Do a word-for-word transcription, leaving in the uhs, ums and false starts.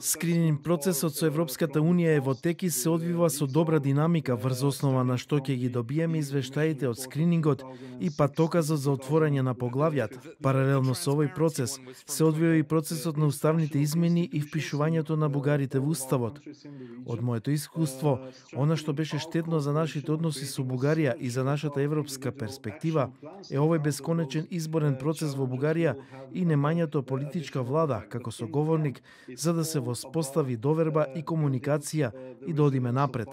Скрининг процесот со Европската Унија е во тек и се одвива со добра динамика, врз основа на што ќе ги добиеме извештаите од скринингот и патоказот за отворање на поглавјата. Паралелно со овој процес се одвива и процесот на уставните измени и впишувањето на бугарите во уставот. Од моето искуство, она што беше штетно за нашите односи со Бугарија и за нашата европска перспектива е овој бесконечен изборен процес во Бугарија и немањето политичка влада како соговорник за да се воспостави доверба и комуникација и да одиме напред.